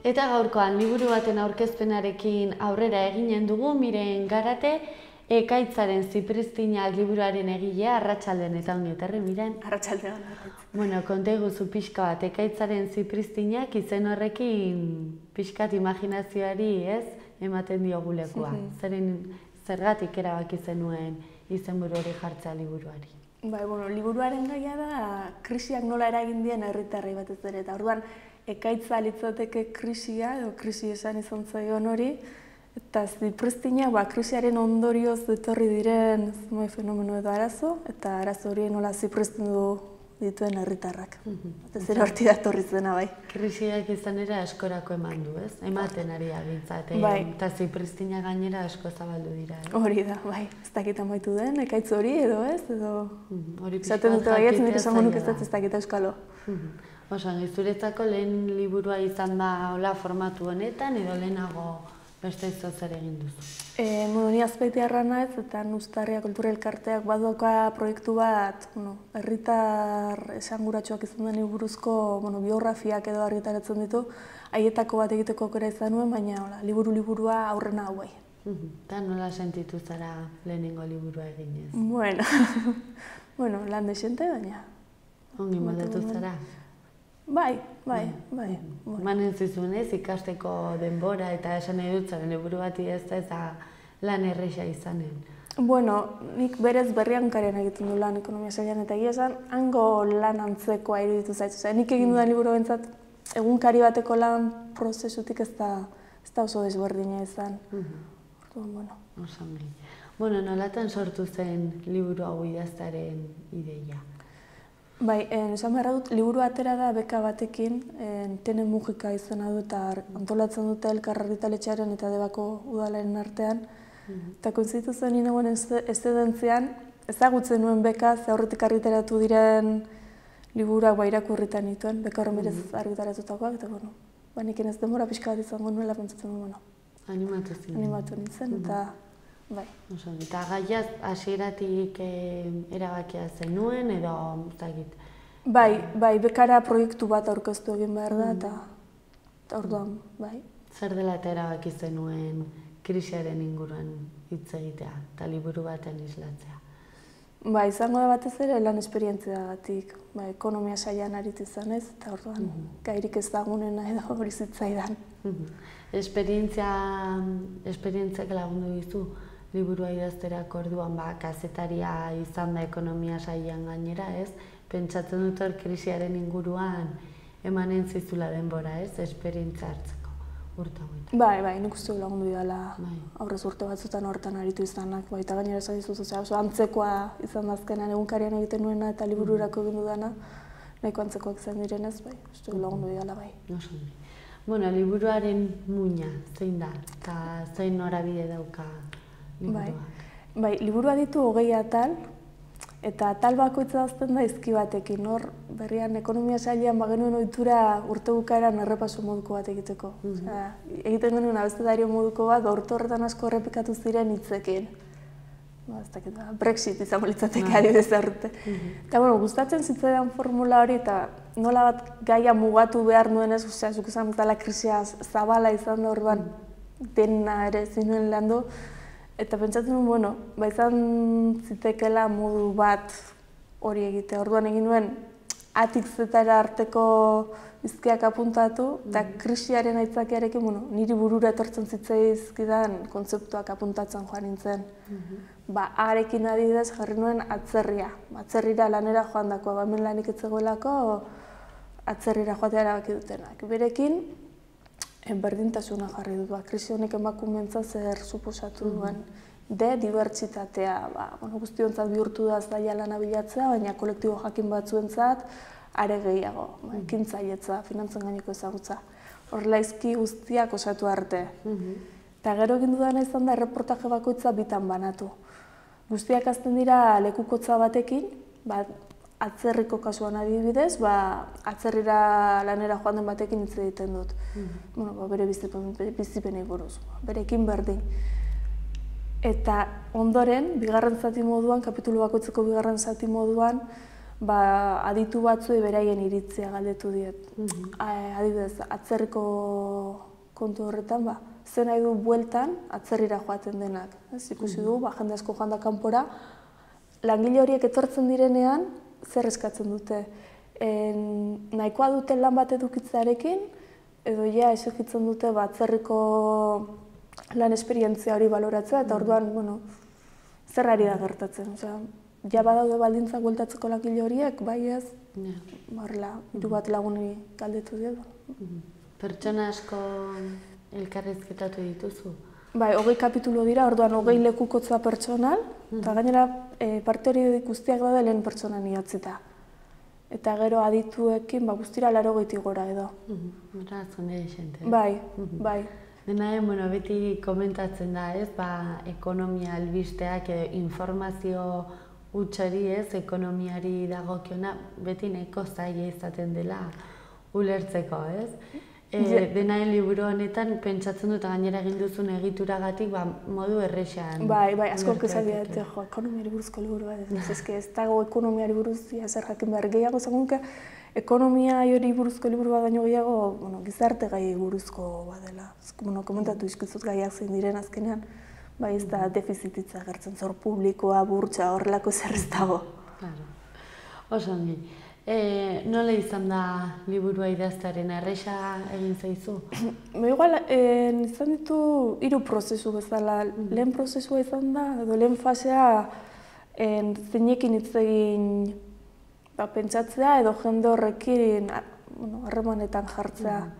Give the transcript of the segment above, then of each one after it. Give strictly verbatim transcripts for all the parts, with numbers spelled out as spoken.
Eta gaurkoan liburu baten aurkezpenarekin aurrera eginen dugu, Miren Garate, Ekaitzaren Zipristinak liburuaren egilea, arratsaldean eta ongi etorri, Miren. Arratsaldean. Bueno, konta iguzu pixka bat, Ekaitzaren Zipristinak izen horrekin pixkat imaginazioari, ez, ematen diogulekua. Zeren zergatik erabaki zenuen izenburu hori jartzea liburuari? Bai, bueno, liburuaren gaia da krisiak nola eragin dien herritarrei batez ere, eta orduan ekaitza litzateke krisia, edo krisi esan izan zaion hori, eta Zipristinak ba, krisiaren ondorioz etorri diren zumai fenomeno edo arazo, eta arazo hori nola zipristindu dituen herritarrak. Eta zer horti datorri zena, bai. Krisiak izan ere askorako eman du, ez? Ematen ari agintzat, eta Zipristinak gainera asko zabaldu dira. Hori da, bai. Ez dakit amaitu den, ekaitz hori edo ez, edo... Hori esaten dute baietz, nire esango nuke ez dakit euskalo. Osan, zuretzako lehen liburua izan da hola formatu honetan, edo lehenago beste izo zer egin duzu? Bueno, ni Azpeitiarra naiz eta Uztarria Kultura Elkarteak baduka proiektu bat, herritar esanguratsuak izan den buruzko biografiak edo argitaratzen ditu, haietako bat egiteko aukera izan nuen, baina liburu-liburua aurrena hau bai. Eta nola sentitu zara lehenengo liburua eginez? Bueno, lan desente, baina... Ongi moldatu zara? Bai, bai, bai. Manen zizunez, ikasteko denbora eta esan nahi dut zaren liburu bati ez da eta lan erresa izanen. Bueno, nik berez berriankaren egiten du lan ekonomia sailean eta egia esan, hango lan antzekoa iruditu zaitu. Nik egin dudan liburu bentsat, egunkari bateko lan prozesutik ez da oso desberdina izan. Bueno. Osangi. Bueno, nolatan sortu zen liburu hau idaztaren ideia? Bai, esan beharra dut, liburu atera da beka batekin, Tene Mujika izena du eta antolatzen dute Elkar Argitaletxearen eta Debako udalaren artean. Eta koinzitu zen ninagoen eszedentzian, ezagutzen nuen beka, ze aurretik argitaratu diren liburuak ba irakurritan nituen, beka horren berez argitaratutakoak, eta bueno, ba niken ez denbora pixka bat izango nuela pentsatzen nuen, bueno. Animatu zinen. Animatu nintzen, eta bai. Eta gaiaz hasieratik erabakia zenuen edo zagit? Bai, bai, bekara proiektu bat aurkeztu egin behar da eta orduan, bai. Zer dela eta erabaki zenuen krisiaren inguruan hitz egitea eta liburu baten islatzea? Bai, izango da batez ere lan esperientziagatik, bai, ekonomia sailean aritu izanez eta orduan gairik ezagunena edo hori zitzaidan. Esperientziak lagundu dizu? Liburua idazterako orduan ba, kazetaria izan da ekonomia sailean gainera, ez? Pentsatzen dut hor krisiaren inguruan emanen zizula denbora, ez? Esperientzia hartzeko urte hauetan. Bai, bai, nik uste lagundu didala aurrez urte batzutan hortan aritu izanak, bai, eta gainera esan dizuz, oso antzekoa izan da azkenean egunkarian egiten nuena eta libururako egin dudana, nahiko antzekoak izan direnez, bai, uste lagundu didala, bai. Bueno, liburuaren muina, zein da, eta zein norabide dauka? Bai, liburua ditu hogei atal, eta atal bakoitza dazten da izki batekin, hor berrian ekonomia sailean bagenuen ohitura urte bukaeran errepaso moduko bat egiteko. Egiten genuen abestedario moduko bat, urte horretan asko errepikatu ziren hitzekin. Brexit izango litzateke adibidez urte. Eta bueno, gustatzen zitzaidan formula hori eta nola bat gaia mugatu behar nuenez, zuk esan bezala krisia zabala izan da orduan dena ere zinuen landu. Eta pentsatzen nuen, bueno, ba izan zitekela modu bat hori egitea. Orduan egin nuen atik zetara arteko izkiak apuntatu, eta krisiaren aitzakiarekin, bueno, niri burura etortzen zitzaizkidan kontzeptuak apuntatzen joan nintzen. Ba, harekin adibidez jarri nuen atzerria. Atzerrira lanera joan dakoa, ba, hemen lanik etzegoelako atzerrira joatea erabaki dutenak. Berekin, berdintasuna jarri dut, krisi honek emakumeentza zer suposatu duen. De, dibertsitatea, guztiontzat bihurtu da zaila lana bilatzea, baina kolektibo jakin batzuentzat are gehiago, ekintzailetza, finantzen gaineko ezagutza. Horrela izki guztiak osatu arte. Eta gero egin dudana izan da erreportaje bakoitza bitan banatu. Guztiak azten dira lekukotza batekin, atzerriko kasuan adibidez, atzerrira lanera joan den batekin hitz egiten dut. Bere bizipenei buruz, berekin berdin. Eta ondoren, bigarren zati moduan, kapitulu bakoitzeko bigarren zati moduan, ba, aditu batzuei beraien iritzia galdetu diet. Adibidez, atzerriko kontu horretan, ba, zen nahi du bueltan atzerrira joaten denak. Ez ikusi du, ba, jende asko joan da kanpora, langile horiek etortzen direnean, zer eskatzen dute. En, nahikoa duten lan bat edukitzarekin, edo ja exigitzen dute ba, atzerriko lan esperientzia hori baloratzea, eta orduan, bueno, zer ari da gertatzen. Osea, ja badaude baldintzak bueltatzeko langile horiek, bai ez, barla, hiru bat laguni galdetu dira. Pertsona asko elkarrizketatu dituzu? Bai, hogei kapitulo dira, orduan hogei lekukotza pertsonal, eta gainera parte hori guztiak daude lehen pertsonan idatzita. Eta gero adituekin ba, guztira laurogeitik gora edo. Era, zone xente. Bai, bai. Dena den, bueno, beti komentatzen da, ez, ba, ekonomia albisteak edo informazio hutsari, ez, ekonomiari dagokiona, beti nahiko zaila izaten dela ulertzeko, ez? E, dena den liburu honetan pentsatzen dut gainera egin duzun egituragatik ba, modu errexean. Bai, bai, asko kezak dira, jo, ekonomiari buruzko liburu bat, ez, ez, ez dago ekonomiari buruz, zer jakin behar gehiago zagunke, ekonomia hori buruzko liburu bat baino gehiago, bueno, gizarte gai buruzko bat dela. Bueno, komentatu izkizut gaiak zein diren azkenean, bai ez da defizititza gertzen, zor publikoa, burtsa, horrelako zer ez dago. Claro. Oso ongi. E, nola izan da liburua idaztearen, erresa egin zaizu? Igual, eh, izan ditu hiru prozesu bezala. Mm. Lehen prozesua izan da, edo lehen fasea eh, zeinekin hitz egin ba, pentsatzea edo jende horrekin bueno, harremanetan jartzea. Mm.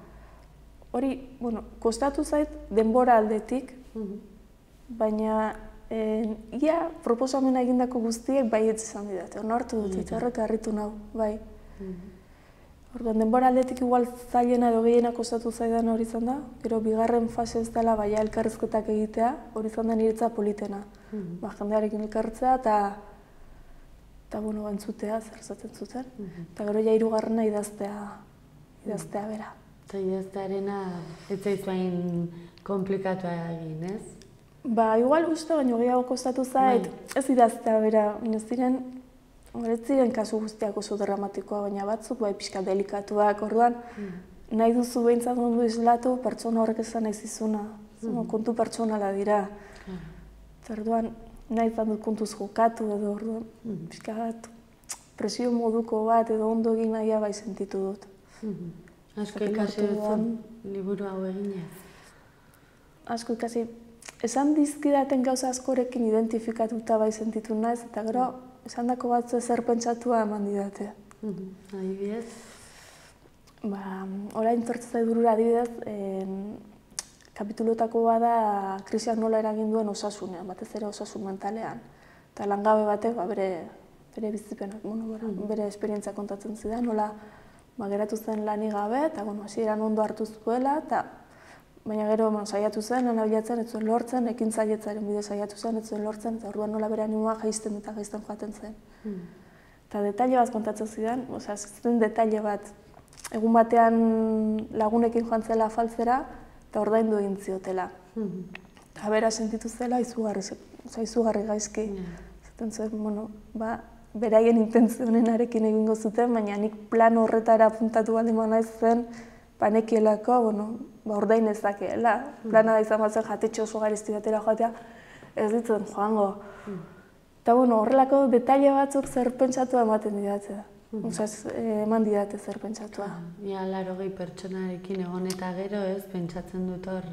Hori, bueno, kostatu zait denbora aldetik, mm. baina Eh, ia, proposamena egindako guztiek baietz izan didate, onartu dut, eta horrek harritu nau, bai. Orduan, denbora aldetik igual zailena edo gehiena kostatu zaidan hori izan da, gero bigarren fase ez dela baina elkarrizketak egitea, hori izan da niretza politena. Ba, jendearekin elkartzea eta eta, bueno, entzutea, zer zaten zuten. Eta gero ja hirugarrena idaztea, idaztea bera. Eta idaztearena ez zaizu hain komplikatua egin, ez? Ba, igual uste baino gehiago kostatu zait, ez idaztea bera, ez ziren, ez ziren kasu guztiak oso dramatikoa, baina batzuk bai pixka delikatuak, orduan nahi duzu behintzat ondo islatu, pertsona horrek esan nahi zizuna, kontu pertsonala dira. Orduan, nahi izan dut kontuz jokatu edo, orduan, pixka bat, presio moduko bat edo ondo egin nahia bai sentitu dut. Asko ikasi duzun liburu hau eginez? Asko ikasi, esan dizkidaten gauza askorekin identifikatuta bai sentitu naiz, eta gero, esan dako batzu ezer pentsatua eman didate. Adibidez? Ba, orain tortzai burura adibidez, kapitulotako bada krisiak nola eragin duen osasunean, batez ere osasun mentalean. Eta langabe batek, bere bizipenak, bere esperientzia kontatzen zidan, nola geratu zen lanik gabe, eta hasieran ondo hartu zuela, baina gero saiatu zen, lan abilatzen, ez zuen lortzen, ekintzailetzaren bide saiatu zen, ez zuen lortzen, eta orduan nola bere animoa jaisten eta jaisten joaten zen. Eta detaile bat kontatzen zidan, osea, zen detaile bat, egun batean lagunekin joan zela afaltzera, eta ordaindu egin ziotela. Eta bera sentitu zela, izugarri gaizki. Zaten zuen, bueno, ba, beraien intentzionenarekin egingo zuten, baina nik plan horretara apuntatu baldin naiz zen, panekielako, bueno, ba, ordain ezakeela. Plana da izan batzen jatetxe oso garizti batera joatea, ez ditzen joango. Eta, bueno, horrelako detaile batzuk zer pentsatua ematen didatzea. Osa, eman didate zer pentsatua. Ia, larogei pertsonarekin egon eta gero, ez, pentsatzen dut hor,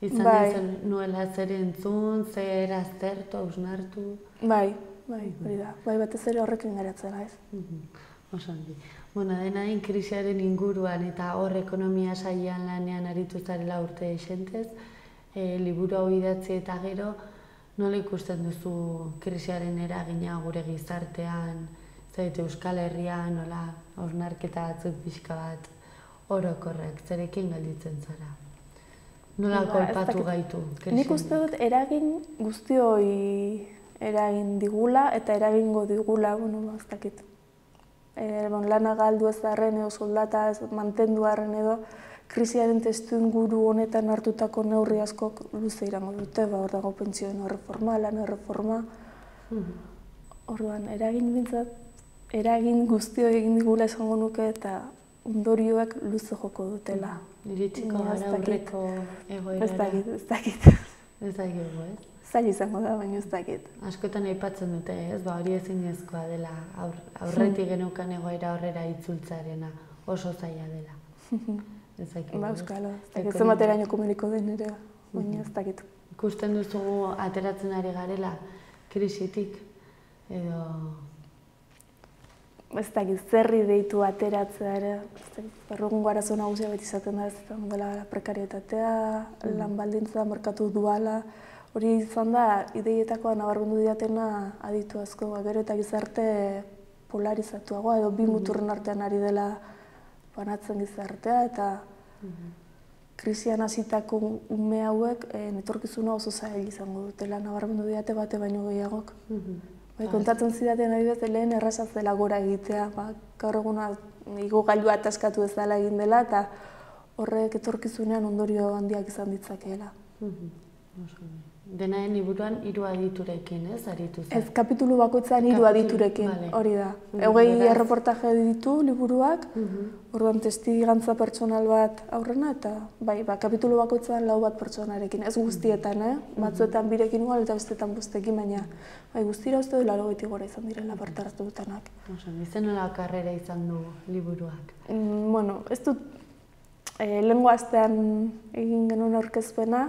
izan dizen nuela zer entzun, zer aztertu, hausnartu. Bai, bai, hori da. Bai, batez ere horrekin geratzen, ez. Oso handi. Bueno, dena den krisiaren inguruan eta hor ekonomia sailean lanean aritu zarela urte esentez, liburu hau idatzi eta gero, nola ikusten duzu krisiaren eragina gure gizartean, zait Euskal Herrian, nola hausnarketa batzuk pixka bat orokorrak, zerekin galditzen zara? Nola kolpatu gaitu? Nik uste dut eragin guztioi eragin digula eta eragingo digula, bueno, ez dakit. Lana galdu ez darren edo soldata ez mantendu arren edo krisiaren testu inguru honetan hartutako neurri askok luze irango dute, hor dago pentsioen erreforma, lan erreforma. Orduan, eragin bintzat eragin guztio egin digula esango nuke eta ondorioak luze joko dutela. Iritsiko gara aurreko egoerara. Ez dakit, ez dakit. Ez dakit, ez? Zaila izango da, baina ez dakit. Askotan aipatzen dute, ez? Ba, hori ezinezkoa dela, aurretik geneukan egoera horrera itzultzarena, oso zaila dela. Ez dakit, ba, euskalo, ez dakit zenbateraino komeriko den ere, baina ez dakit. Ikusten duzugu ateratzen ari garela, krisitik, edo... Ez dakit, zerri deitu ateratzea ere, berrogungo arazo nagusia beti izaten da, ez dela prekarietatea, lan baldintza, merkatu duala, hori izan da, ideietakoa nabarmendu diatena aditu asko, gero eta gizarte polarizatuagoa, edo bi muturren artean ari dela banatzen gizartea, eta krisian hasitako ume hauek etorkizuna oso zail izango dutela, nabarmendu diate bate baino gehiagok. Bai, kontatzen zidaten adibidez, lehen errazaz dela gora egitea, gaur eguna igogailua ataskatu ez dela egin dela, eta horrek etorkizunean ondorio handiak izan ditzakeela. Denaen liburuan hiru aditurekin, ez, aritu zen? Ez, kapitulu bakoitzan hiru aditurekin, hori da. Hogei erreportaje ditu liburuak, orduan testigantza pertsonal bat aurrena, eta bai, kapitulu bakoitzan lau bat pertsonarekin, ez guztietan, batzuetan birekin igual eta bestetan bostekin, baina bai, guztira uste du laurogeita gora izan direla parte hartu dutenak. Izen nola karrera izan du liburuak? Bueno, ez dut lehengo astean egin genuen aurkezpena,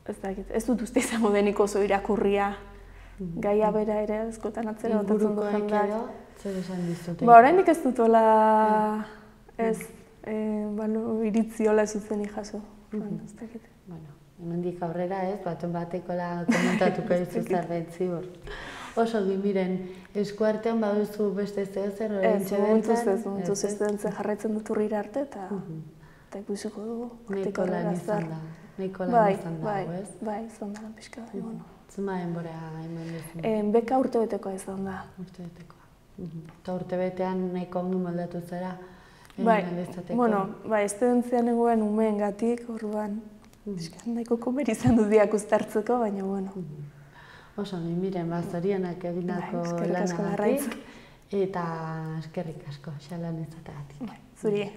ez dakit, ez dut uste izango denik oso irakurria. Gaia bera ere, askotan atzera botatzen du jendak. Ingurukoek edo, zer esan dizute? Ba, oraindik ez dut hola, ez, iritzi hola zuzenik jaso. Ez dakit. Bueno, hemendik aurrera ez, baten batekola komentatuko dizu zerbait zibor. Oso gimiren, eskuartean baduzu beste zer, ez, momentuz ez, momentuz ez dentzen jarraitzen dut urrira arte, eta ikusiko dugu. Nahiko lan izan da. Nahiko lan izan dago, ez? Bai, izan da, pixka da, bueno. Zuma denbora eman duzu? Beka urtebetekoa izan da. Urtebetekoa. Eta urtebetean nahiko ongi moldatu zara? Bai, bueno, bai, estudentzian egoen umeen gatik, orduan, nahiko komer izan dut diak uztartzeko, baina, bueno. Oso, miren, bazorionak egindako lanagatik, eta eskerrik asko, xalan izatagatik. Zuri.